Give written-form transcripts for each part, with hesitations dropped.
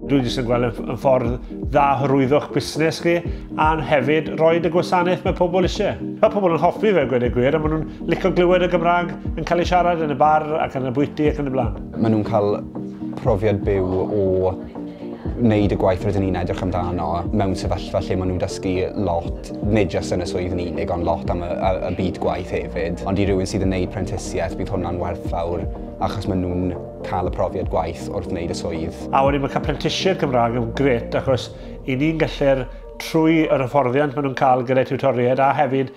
Dwi jyst yn gweld yn ffordd dda hyrwyddo'ch busnes chi a hefyd rhoi y gwasanaeth mae pobl eisiau. Mae pobl yn hoffi fe, gweud y gwir, a maen nhw'n licio glywed y Gymraeg yn cael ei siarad yn y bar ac yn y bwyty ac yn y blaen. Maen nhw'n cael profiad byw o wneud y gwaith rydyn ni'n edrych amdano mewn sefyllfa lle maen nhw'n dysgu lot, nid jyst yn y swydd yn unig, ond lot am y byd gwaith hefyd. Ond i rywun sydd yn wneud prentisiaeth, bydd hwnna'n werthfawr achos maen nhw'n cael y profiad gwaith wrth wneud y swydd. A wedyn mae cael prentisiaid Cymraeg yn grêt achos i ni'n gallu'r trwy yr hyfforddiant maen nhw'n cael gyda tiwtoriaid a hefyd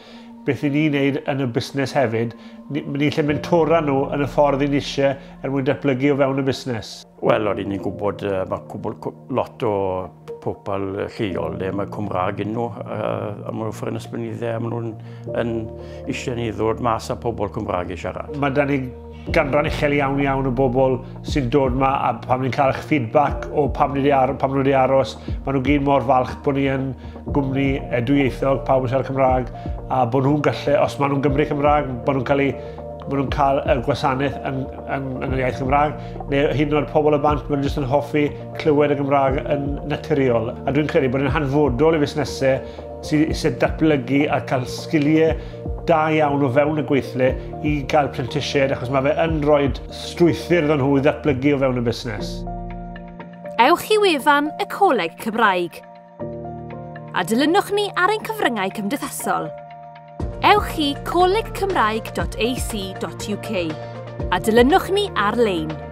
beth i ni'n neud yn y busnes hefyd, ni'n lle mentora nhw yn y ffordd i ni eisiau er mwyn datblygu o fewn y busnes. Wel, o'n i'n gwybod mae cwbl lot o pobl lleol le mae Cymraeg yn nhw, a maen nhw'n ffyr ysbynydde, a maen nhw'n eisiau ni ddod mas â pobl Cymraeg i siarad. Mae da ni ganran uchel iawn iawn o bobl sy'n dod yma a pam ni'n cael eich feedback o pam ni pam nhw wedi aros, maen nhw gyd mor falch bod ni yn gwmni dwyieithog, pawb yn siarad Cymraeg, a bod nhw'n gallu, os maen nhw'n Gymru Cymraeg, bod nhw'n cael maen nhw'n cael y gwasanaeth yn yr iaith Gymraeg, neu hyd yn oed pobl y bant, maen nhw jyst yn hoffi clywed y Gymraeg yn naturiol. A dwi'n credu bod yn hanfodol i fusnesau sydd eisiau datblygu a cael sgiliau da iawn o fewn y gweithle i gael prentisiaid, achos mae fe yn rhoi strwythur iddyn nhw i ddatblygu o fewn y busnes. Ewch i wefan y Coleg Cymraeg a dilynwch ni ar ein cyfryngau cymdeithasol. Ewch i colegcymraeg.ac.uk a dilynwch ni ar-lein.